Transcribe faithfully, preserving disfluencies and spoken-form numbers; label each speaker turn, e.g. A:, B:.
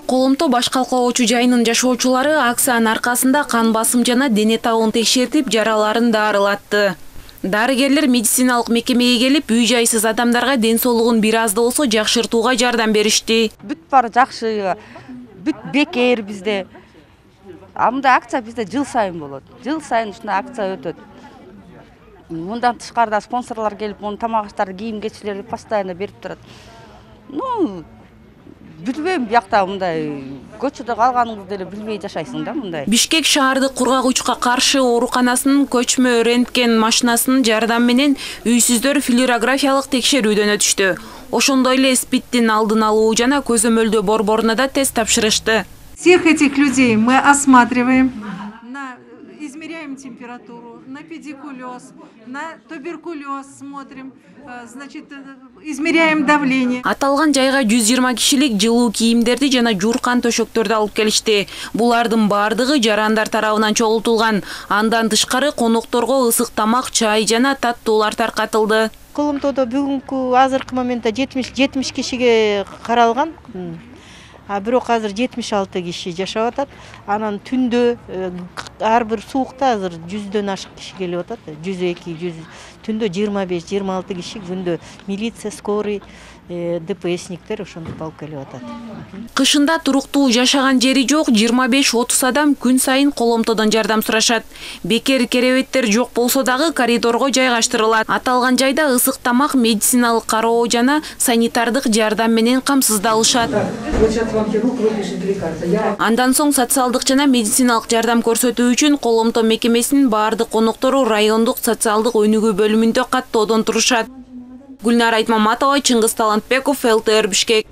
A: Коломто баш калкоочу жайынын жашоочулары акциянын аркасында кан басым жана дене табын текшертип, жараларын дарылатты. Дарыгерлер медициналык мекемеге келип, үй-жайсыз адамдарга ден соолугун бир аз да болсо жакшыртууга жардам беришти.
B: Бүт баары жакшы, бүт бекер бизде. А мындай акция бизде жыл сайын болот. Жыл сайын ушундай акция өтөт. Мындан тышкарыда спонсорлор келип, муну тамак аштарды, кийим-кечилерди постоянно берип турат. Ну, билбейм, биякта мындай көчөдө калганыңызды деле билбей жашайсың да мындай.
A: Бишкек шаардык кургагучка каршы ооруканасынын көчмө рентген машинасынын жардамы менен үйсүздөр флюорографиялык текшерүүдөн өтүштү. Ошондой эле спидтин алдын алуу жана көзөмөлдөө борборуна да тест тапшырышты.
C: Всех этих людей мы осматриваем, на, измеряем температуру, на педикулез, на туберкулез смотрим, значит, измеряем давление.
A: Аталган жайга жүз жыйырма кишилик жылуу кийимдерди жана жууркан төшөктөрдү алып келишти. Булардын бардыгы жарандар тарабынан чогултулган. Андан тышкары конокторго ысык тамак, чай жана таттуулар таркатылды.
D: Коломтодо бүгүнкү азыркы моментте жетимиш кишиге каралган. А бирок азыр жетимиш алты киши жашап атат. Анан түндө ар бир суукта азыр жүздөн ашык киши келип атат. жүз эки, жүз түндө жыйырма беш, жыйырма алты киши, күндө милиция, скорый, ДПСниктер ошондуп алып келип атат.
A: Кышында туруктуу жашаган жери жок жыйырма беш отуз адам күн сайын Коломтодон жардам сурашат. Бекер керебеттер жок болсо дагы коридорго жайгаштырылат. Аталган жайда ысык тамак, медициналык кароо жана санитардык жардам менен камсыздалышат. Андан соң социалдык жана медициналык жардам көрсөтүү үчүн Коломто мекемесинин баардык коноктору райондук социалдык өнүгүү бөлүмүндө каттоодон турушат. Гүлнара Айтмаматова, Чыңгыз Талантбеков, эл тэ эр Бишкек.